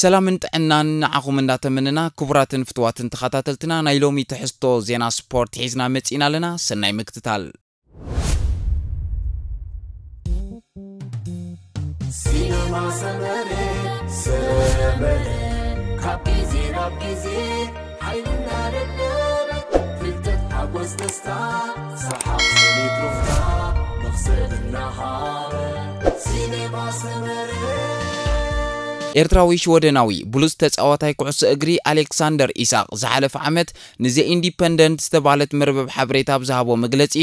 ሰላምን ጥዕናን ንዓኹም እንዳተመነና፣ ክቡራትን ፍትዋትን ተኸታተልትና፣ ናይ ሎሚ ትሕዝቶ ዜና ስፖርት ሒዝና መጺእና ኣለና። ሰናይ ምክትታል። ሲነማ ሰመረ፣ ሰመረ፣ ካብ ግዜ ናብ ግዜ ሓይልና ደለበ፣ ፍልጠት ሓጎስ ደስታ፣ ሰሓቕ ስኒት ሩፍታ፣ መኽሰብ እናሃበ፣ ሲነማ ሰመረ። ኤርትራዊ ሽወደናዊ ብሉጽ ተጻዋታይ ኩዕሶ እግሪ ኣሌክሳንደር ኢሳቕ ዝሓለፈ ዓመት ንዘ ኢንዲፐንደንት ዝተባህለት መርበብ ሓበሬታ ኣብ ዝሃቦ መግለጺ፣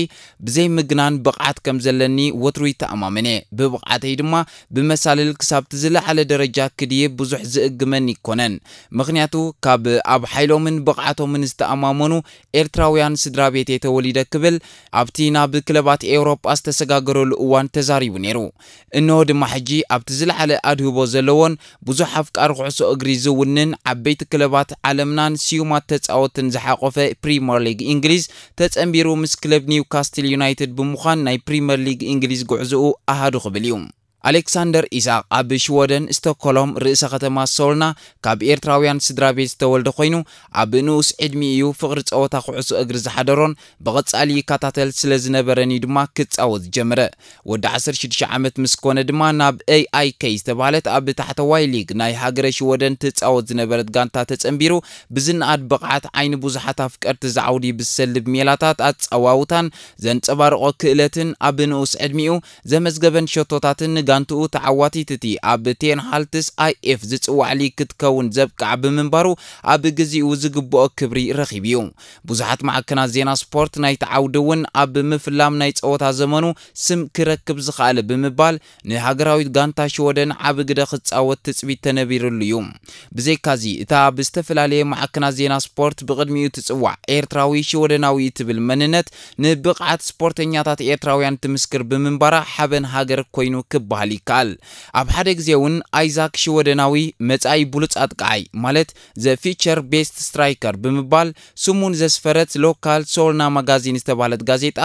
ብዘይ ምግናን ብቕዓት ከም ዘለኒ ወትሩ ይተኣማመን እየ። ብብቕዓተይ ድማ ብመሳልል ክሳብቲ ዝለዓለ ደረጃ ክድይብ ብዙሕ ዝእግመኒ ይኮነን። ምኽንያቱ ካብ ኣብ ሓይሎምን ብቕዓቶምን ዝተኣማመኑ ኤርትራውያን ስድራ ቤት እየ ተወሊደ ክብል ኣብቲ ናብ ክለባት ኤውሮጳ ዝተሰጋገረሉ እዋን ተዛሪቡ ነይሩ። እንሆ ድማ ሕጂ ኣብቲ ዝለዓለ ኣድህቦ ዘለዎን ብዙሕ ኣፍቃሪ ኩዕሶ እግሪ ዝውንን ዓበይቲ ክለባት ዓለምናን ስዩማት ተጻወትን ዝሓቆፈ ፕሪመር ሊግ እንግሊዝ ተጸንቢሩ ምስ ክለብ ኒውካስትል ዩናይትድ ብምዃን ናይ ፕሪመር ሊግ እንግሊዝ ጉዕዝኡ ኣሃዱ ክብል እዩ። ኣሌክሳንደር ኢሳቕ ኣብ ሽወደን ስቶክሆልም ርእሰ ከተማ ሶልና ካብ ኤርትራውያን ስድራ ቤት ዝተወልደ ኮይኑ ኣብ ንኡስ ዕድሚኡ እዩ ፍቕሪ ጸወታ ኩዕሶ እግሪ ዝሓደሮን ብቐጻሊ ይከታተል ስለ ዝነበረን እዩ ድማ ክጻወት ዝጀመረ። ወዲ ዓሰርተ ሽዱሽተ ዓመት ምስ ኮነ ድማ ናብ ኤ ኣይ ኬ ዝተባህለት ኣብ ታሕተዋይ ሊግ ናይ ሃገረ ሽወደን ትጻወት ዝነበረት ጋንታ ተጸንቢሩ ብዝነኣድ ብቕዓት ዓይኒ ብዙሓት ኣፍቀርቲ ዝዓውዲ ብዝሰልብ ሜላታት ኣጸዋውታን ዘንጸባርቖ ክእለትን ኣብ ንኡስ ዕድሚኡ ዘመዝገበን ሸቶታትን ንጋንትኡ ተዓዋቲት እቲ ኣብ ቴን ሃልትስ ኣይ ኤፍ ዝጽዋዕ ሊግ ክትከውን ዘብቅዓ ብምንባሩ ኣብ ግዜኡ ዝግብኦ ክብሪ ረኺቡ እዩ። ብዙሓት ማዕከናት ዜና ስፖርት ናይቲ ዓውዲ እውን ኣብ ምፍላም ናይ ጸወታ ዘመኑ ስም ክረክብ ዝኸኣለ ብምባል ንሃገራዊት ጋንታ ሽወደን ዓቢ ግደ ክጻወት ትጽቢት ተነቢርሉ እዩ። ብዘይካዚ እታ ብዝተፈላለየ ማዕከናት ዜና ስፖርት ብቕድሚኡ ትጽዋዕ ኤርትራዊ ሽወደናዊ እትብል መንነት ንብቕዓት ስፖርተኛታት ኤርትራውያን ትምስክር ብምንባራ ሓበን ሃገር ኮይኑ ክበሃል ይከኣል። ኣብ ሓደ ግዜ እውን ኣይዛክ ሽወደናዊ መጻኢ ብሉጽ ኣጥቃዓይ ማለት ዘ ፊቸር ቤስት ስትራይከር ብምባል ስሙን ዘስፈረት ሎካል ሶልና ማጋዚን ዝተባህለት ጋዜጣ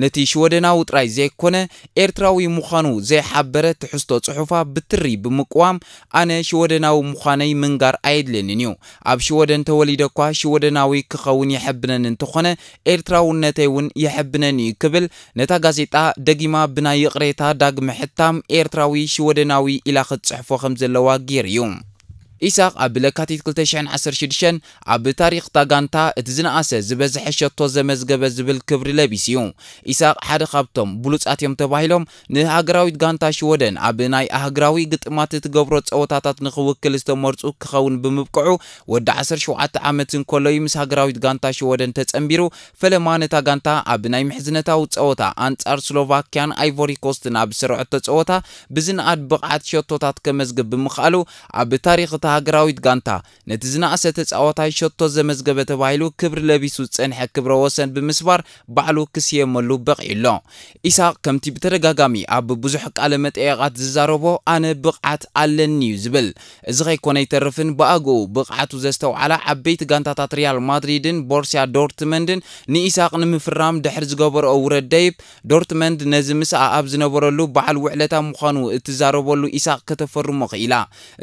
ነቲ ሽወደናዊ ጥራይ ዘይኮነ ኤርትራዊ ምዃኑ ዘይሓበረ ትሕዝቶ ጽሑፋ ብትሪ ብምቅዋም ኣነ ሽወደናዊ ምዃነይ ምንጋር ኣየድልየንን እዩ። ኣብ ሽወደን ተወሊደ እኳ ሽወደናዊ ክኸውን የሐብነኒ እንተኾነ ኤርትራውነተይ እውን የሐብነኒ እዩ ክብል ነታ ጋዜጣ ደጊማ ብናይ ይቕሬታ ዳግመ ሕታም ኤርትራዊ ሽወደናዊ ኢላ ክትጽሕፎ ከም ዘለዋ ገይሩ እዩ። ኢሳቕ ኣብ ለካቲት ክልተ ሽሕን ዓሰርተ ሽዱሽተን ኣብ ታሪኽ እታ ጋንታ እቲ ዝነኣሰ ዝበዝሐ ሸቶ ዘመዝገበ ዝብል ክብሪ ለቢሱ እዩ። ኢሳቕ ሓደ ካብቶም ብሉጻት እዮም ተባሂሎም ንሃገራዊት ጋንታ ሽወደን ኣብ ናይ ኣህግራዊ ግጥማት እትገብሮ ጸወታታት ንኽውክል ዝተመርጹ ክኸውን ብምብቅዑ ወዲ ዓሰርተ ሸውዓተ ዓመት እንከሎ እዩ ምስ ሃገራዊት ጋንታ ሽወደን ተጸንቢሩ። ፈለማ ነታ ጋንታ ኣብ ናይ ምሕዝነታዊ ጸወታ ኣንጻር ስሎቫክያን ኣይቮሪ ኮስትን ኣብ ዝሰርዐቶ ጸወታ ብዝነኣድ ብቕዓት ሸቶታት ከመዝግብ ብምኽኣሉ ኣብ ታሪኽ እታ ሃገራዊት ጋንታ ነቲ ዝነኣሰ ተጻዋታይ ሸቶ ዘመዝገበ ተባሂሉ ክብሪ ለቢሱ ዝጸንሐ ክብረ ወሰን ብምስባር ባዕሉ ክስየመሉ በቒዑ ኣሎ። ኢሳቕ ከምቲ ብተደጋጋሚ ኣብ ብዙሕ ቃለ መጠየቓት ዝዛረቦ ኣነ ብቕዓት ኣለኒ እዩ ዝብል። እዚ ከይኮነ ኣይተርፍን ብኣግኡ ብቕዓቱ ዘስተውዓላ ዓበይቲ ጋንታታት ሪያል ማድሪድን ቦርሲያ ዶርትመንድን ንኢሳቕ ንምፍራም ድሕሪ ዝገበረኦ ውረድ ደይብ ዶርትመንድ ነዚ ምስኣ ኣብ ዝነበረሉ በዓል ውዕለታ ምዃኑ እትዛረበሉ ኢሳቕ ከተፈርሞ ክኢላ።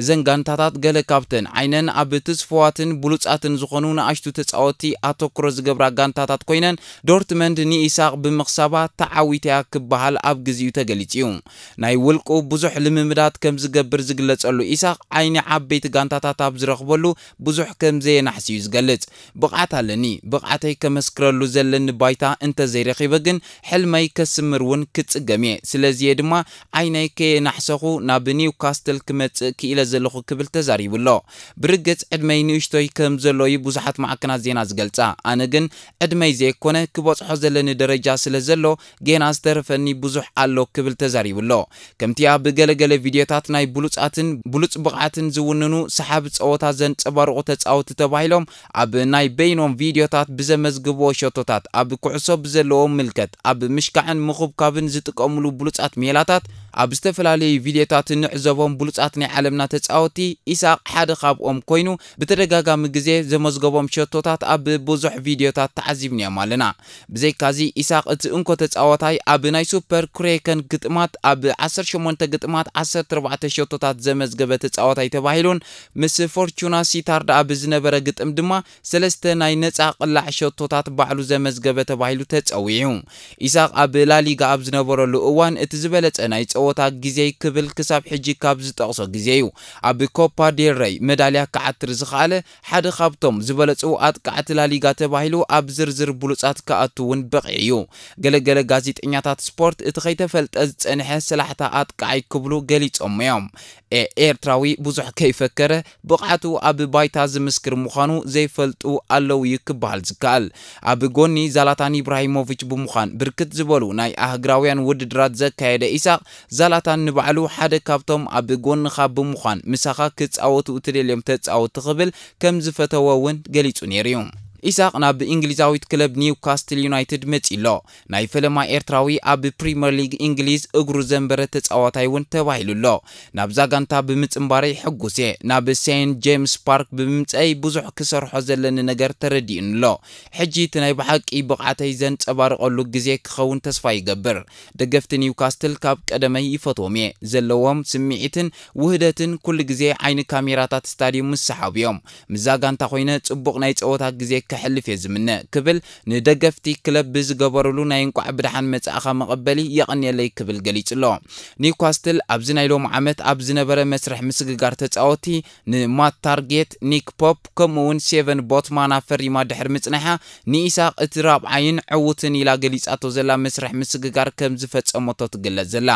እዘን ጋንታታት ገለ ካብተን ዓይነን ኣብ ትስፉዋትን ብሉጻትን ዝኾኑ ንኣሽቱ ተጻወትቲ ኣተኩሮ ዝገብራ ጋንታታት ኮይነን ዶርትመንድ ንኢሳቕ ብምኽሳባ ተዓዊታ እያ ክበሃል ኣብ ግዜኡ ተገሊጹ እዩ። ናይ ውልቁ ብዙሕ ልምምዳት ከም ዝገብር ዝግለጸሉ ኢሳቕ ዓይኒ ዓበይቲ ጋንታታት ኣብ ዝረኽበሉ ብዙሕ ከም ዘየናሕስ እዩ ዝገልጽ። ብቕዓት ኣለኒ። ብቕዓተይ ከመስክረሉ ዘለኒ ባይታ እንተዘይረኺበ ግን ሕልመይ ከስምር እውን ክጽገም እየ። ስለዚ እየ ድማ ዓይነይ ከየናሕሰኹ ናብ ኒውካስትል ክመጽእ ክኢለ ዘለኹ ክብል ተዛሪቡ ኣሎ። ብርግጽ ዕድመይ ንእሽቶይ ከም ዘሎ እዩ ብዙሓት ማዕከናት ዜና ዝገልጻ። ኣነ ግን ዕድመይ ዘይኮነ ክበጽሖ ዘለኒ ደረጃ ስለ ዘሎ ጌና ዝተረፈኒ ብዙሕ ኣሎ ክብል ተዛሪቡ ኣሎ። ከምቲ ኣብ ገለገለ ቪድዮታት ናይ ብሉጻትን ብሉጽ ብቕዓትን ዝውንኑ ሰሓቢ ጸወታ ዘንጸባርቑ ተጻወቲ ተባሂሎም ኣብ ናይ በይኖም ቪድዮታት ብዘመዝግብዎ ሸቶታት ኣብ ኩዕሶ ብዘለዎም ምልከት ኣብ ምሽካዕን ምኹብካብን ዝጥቀምሉ ብሉጻት ሜላታት ኣብ ዝተፈላለዩ ቪድዮታት እንዕዘቦም ብሉጻት ናይ ዓለምና ተጻወቲ፣ ኢሳቕ ሓደ ካብኦም ኮይኑ፣ ብተደጋጋሚ ግዜ ዘመዝገቦም ሸቶታት ኣብ ብዙሕ ቪድዮታት ተዓዚብናዮም ኣለና። ብዘይካዚ፣ ኢሳቕ እቲ እንኮ ተጻዋታይ ኣብ ናይ ሱፐር ኩሬከን ግጥማት ኣብ ዓሰርተ ሸሞንተ ግጥማት ዓሰርተ ኣርባዕተ ሸቶታት ዘመዝገበ ተጻዋታይ ተባሂሉን ምስ ፎርቹና ሲታርድ ኣብ ዝነበረ ግጥም ድማ ሰለስተ ናይ ነጻ ቅላዕ ሸቶታት ባዕሉ ዘመዝገበ ተባሂሉ ተጸዊዑ። ኢሳቕ ኣብ ላሊጋ ኣብ ዝነበረሉ እዋን እቲ ዝበለጸ ናይ ጸወታ ግዜይ ክብል ክሳብ ሕጂ ካብ ዝጠቕሶ ግዜ እዩ። ኣብ ኮፓ ዴል ረይ መዳልያ ክዓትር ዝኸኣለ ሓደ ካብቶም ዝበለጹ ኣጥቃዕቲ ላሊጋ ተባሂሉ ኣብ ዝርዝር ብሉጻት ክኣቱ እውን በቒዑ እዩ። ገለገለ ጋዜጠኛታት ስፖርት እቲ ከይተፈልጠ ዝጸንሐ ሰላሕታ ኣጥቃዓይ ክብሉ ገሊጾም እዮም። ኤ-፣ ኤርትራዊ ብዙሕ ከይፈከረ ብቕዓቱ ኣብ ባይታ ዝምስክር ምዃኑ ዘይፈልጡ ኣለዉ እዩ ክበሃል ዝከኣል። ኣብ ጎኒ ዛላታን ኢብራሂሞቪች ብምዃን ብርክት ዝበሉ ናይ ኣህግራውያን ውድድራት ዘካየደ ኢሳቕ፣ ዛላታን ንባዕሉ ሓደ ካብቶም ኣብ ጎንኻ ብምዃን ምሳኻ ክጻወቱ እትደልዮም ተጻወቲ ክብል ከም ዝፈተወ እውን ገሊጹ ነይሩ እዩ። ኢሳቕ ናብ እንግሊዛዊት ክለብ ኒውካስትል ዩናይትድ መጺኡ ኣሎ። ናይ ፈለማ ኤርትራዊ ኣብ ፕሪምየር ሊግ እንግሊዝ እግሩ ዘንበረ ተጻዋታይ እውን ተባሂሉ ኣሎ። ናብዛ ጋንታ ብምጽንባረይ ሕጉስ እየ። ናብ ሴንት ጄምስ ፓርክ ብምምጸይ ብዙሕ ክሰርሖ ዘለኒ ነገር ተረዲኡኒ ኣሎ። ሕጂ እቲ ናይ ብሓቂ ብቕዓተይ ዘንጸባርቐሉ ግዜ ክኸውን ተስፋ ይገብር። ደገፍቲ ኒውካስትል ካብ ቀደመይ ይፈትዎም እየ። ዘለዎም ስምዒትን ውህደትን ኩሉ ግዜ ዓይኒ ካሜራታት ስታድዩም ምስ ሰሓቡ እዮም። ምስዛ ጋንታ ኮይነ ጽቡቕ ናይ ጸወታ ግዜ ከሕልፍ እየ ዝምነ ክብል ንደገፍቲ ክለብ ብዝገበሩሉ ናይ እንቋዕ ብደሓን መጻእኻ መቐበሊ የቐንየለይ ክብል ገሊጹ ኣሎ። ኒውካስትል ኣብዚ ናይ ሎሚ ዓመት ኣብ ዝነበረ መስርሕ ምስግጋር ተጻወቲ ንማት ታርጌት፣ ኒክ ፖፕ ከምኡ እውን ሴቨን ቦትማን ኣፈሪማ ድሕሪ ምጽናሓ ንኢሳቕ እቲ ራብዓይን ዕዉትን ኢላ ገሊጻቶ ዘላ መስርሕ ምስግጋር ከም ዝፈጸመቶ ትግለጽ ዘላ።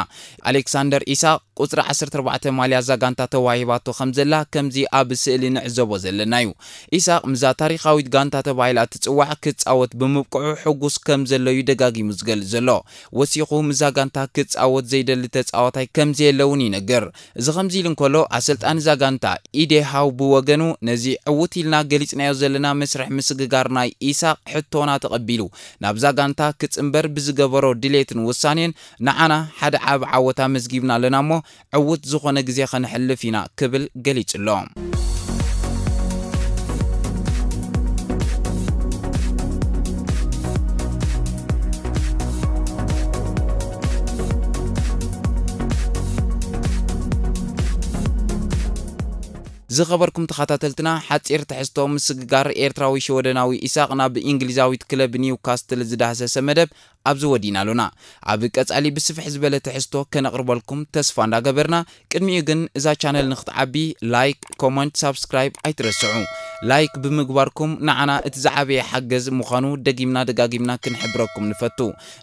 ኣሌክሳንደር ኢሳቕ ቁጽሪ ዓሰርተ ኣርባዕተ ማልያ እዛ ጋንታ ተዋሂባቶ ከም ዘላ ከምዚ ኣብ ስእሊ ንዕዘቦ ዘለና እዩ። ኢሳቕ ምስዛ ታሪኻዊት ጋንታ ተባሂላ እትጽዋዕ ክጻወት ብምብቅዑ ሕጉስ ከም ዘሎ እዩ ደጋጊሙ ዝገልጽ ዘሎ። ወሲኹ ምስዛ ጋንታ ክጻወት ዘይደሊ ተጻዋታይ ከም ዘየለ እውን ይነግር። እዚ ከምዚ ኢሉ እንከሎ ኣሰልጣኒ እዛ ጋንታ ኢዴ ሃው ብወገኑ ነዚ ዕዉት ኢልና ገሊጽናዮ ዘለና መስርሕ ምስግጋር ናይ ኢሳቕ ሕቶና ተቐቢሉ ናብዛ ጋንታ ክጽንበር ብዝገበሮ ድሌትን ውሳኔን ንዓና ሓደ ዓቢ ዓወት ኣመዝጊብና ኣለና እሞ ዕዉት ዝኾነ ግዜ ከነሕልፍ ኢና ክብል ገሊጹ ኣሎ። ዝኸበርኩም ተኸታተልትና፣ ሓጺር ትሕዝቶ ምስግጋር ኤርትራዊ ሽወደናዊ ኢሳቕ ናብ እንግሊዛዊት ክለብ ኒውካስትል ዝዳህሰሰ መደብ ኣብዚ ወዲና ኣሎና። ኣብ ቀጻሊ ብስፍሕ ዝበለ ትሕዝቶ ከነቕርበልኩም ተስፋ እንዳገበርና፣ ቅድሚኡ ግን እዛ ቻነል ንክትዓቢ ላይክ፣ ኮመንት፣ ሳብስክራይብ ኣይትረስዑ። ላይክ ብምግባርኩም ንዓና እቲ ዝዓበየ ሓገዝ ምዃኑ ደጊምና ደጋጊምና ክንሕብረኩም ንፈቱ።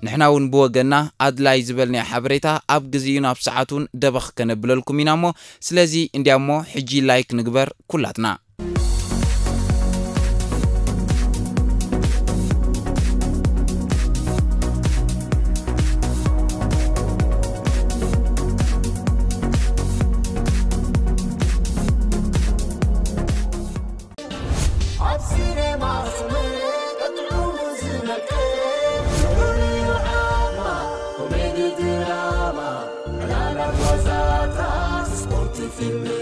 ንሕና እውን ብወገንና ኣድላይ ዝበልናዮ ሓበሬታ ኣብ ግዜኡን ኣብ ሰዓቱን ደበኽ ከነብለልኩም ኢና እሞ፣ ስለዚ እንዲያሞ ሕጂ ላይክ ንግበር ኩላትና። ኣብ ሲኔማ ስምዒት ጥዑም ዝመልክት፣ ፍሉይ ዓማ፣ ኮሜዲ ድራማ፣ ዕላላት ዋዛታት፣ ስፖርት ፊልም፣